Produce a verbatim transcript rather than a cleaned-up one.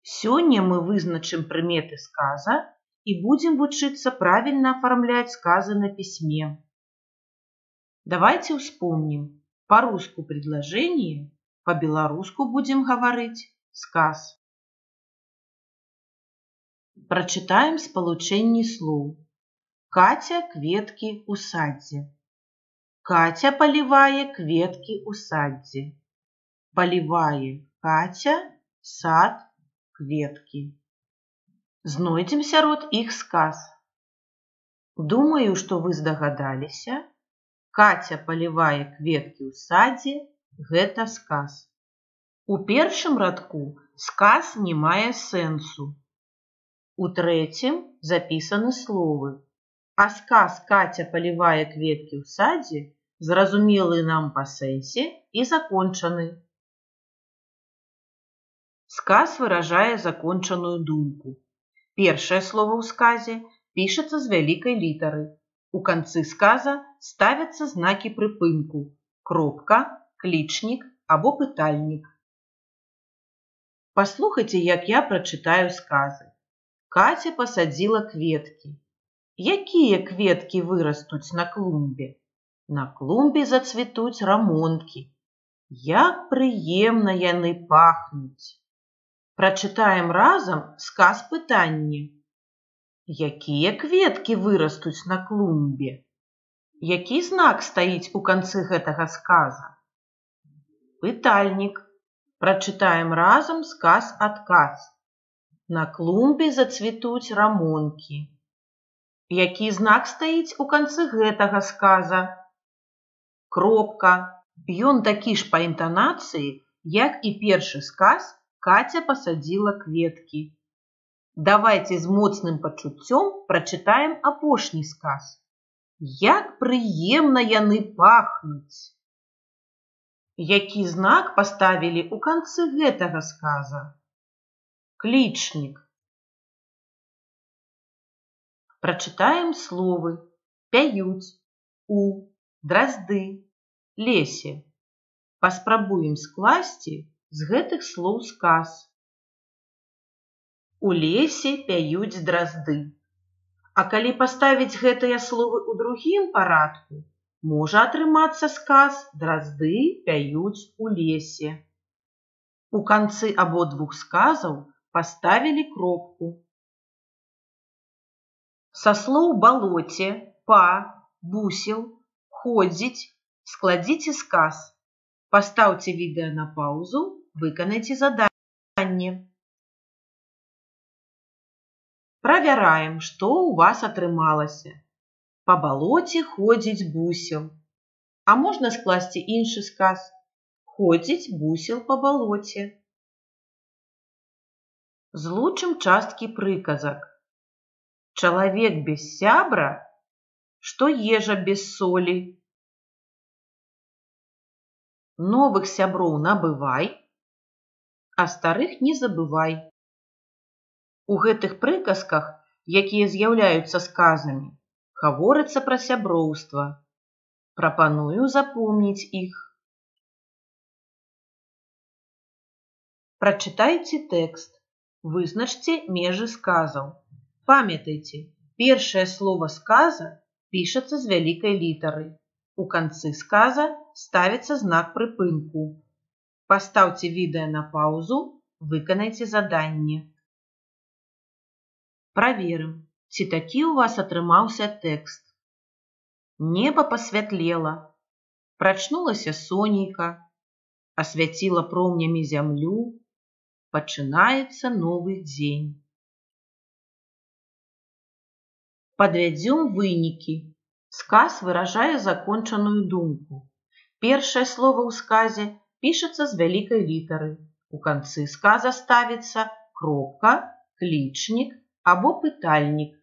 Сёння мы вызначым прыметы сказа и будем вучыцца правильно оформлять сказы на письме. Давайте вспомним. По-русски предложение, по-белорусски будем говорить сказ. Прочитаем спалучэнні слоў. Катя кветкі ў садзе. Катя поливае кветкі ў садзе. Поливае Катя сад кветкі. Знойдзем сярод іх сказ. Думаю, што вы здагадаліся. Катя поливае кветкі ў садзе – гэта сказ. У першым радку сказ не мае сэнсу. У трэцім запісаны словы. А сказ «Катя поливае кветкі ў садзе» зразумелы нам па сэнсе і закончаны. Сказ выражае закончаную думку. Першае слово ў сказе пішацца з вялікай літары. У канцы сказа ставяцца знакі прыпынку – кропка, клічнік або пытальнік. Паслухайце, як я прачытаю сказы. Катя посадзіла кветкі. Якія кветкі вырастуць на клумбе? На клумбе зацвітуць рамонкі. Як прыемна яны пахнуць. Прачытаем разам сказ пытанне. Якія кветкі вырастуць на клумбе? Які знак стаіць у канцы гэтага сказа? Пытальнік. Прачытаем разам сказ-адказ. На клумбе зацвітуць рамонкі. Які знак стаіць у канцы гэтага сказа? Кропка. Ён такі ж па інтанацыі, як і першы сказ «Катя посадзіла кветкі». Давайте з моцным пачуццём прачытаем апошні сказ. Як прыемна яны пахнуць. Які знак паставілі ў канцы гэтага сказа? Клічнік. Прачытаем словы пяюць, у, дразды, лесе. Паспрабуем скласці з гэтых слоў сказ. У лесе пяюць дразды. А калі паставіць гэтыя словы ў другім парадку, можа атрымацца сказ «Дразды пяюць у лесе». У канцы абодвух сказаў паставілі кропку. Са слоў балоце, па, бусел, ходзіць складзіце сказ. Пастаўце відэа на паўзу, выканайце заданне. Правяраем, што ў вас атрымалася. Па балоце ходзіць бусел. А можна скласці іншы сказ. Ходзіць бусел па балоце. Злучым часткі прыказак. Чалавек без сябра, што ежа без солі. Новых сяброў набывай, а старых не забывай. У гэтых прыказках, якія з'яўляюцца сказамі, гаворыцца пра сяброўства. Прапаную запомніць іх. Прачытайце тэкст. Вызначце межы сказаў. Памятайце, першае слово сказа пішацца з вялікай літары. У канцы сказа ставіцца знак прыпынку. Пастаўце відэа на паўзу, выканайце заданне. Праверым, ці такі ў вас атрымаўся тэкст. Неба пасвятлела. Прачнулася сонейка. Асвяціла промнямі зямлю. Пачынаецца новы дзень. Падвядзём вынікі. Сказ выражае закончаную думку. Першае слово ў сказе пішацца з вялікай літары. У канцы сказа ставіцца кропка, клічнік або пытальнік.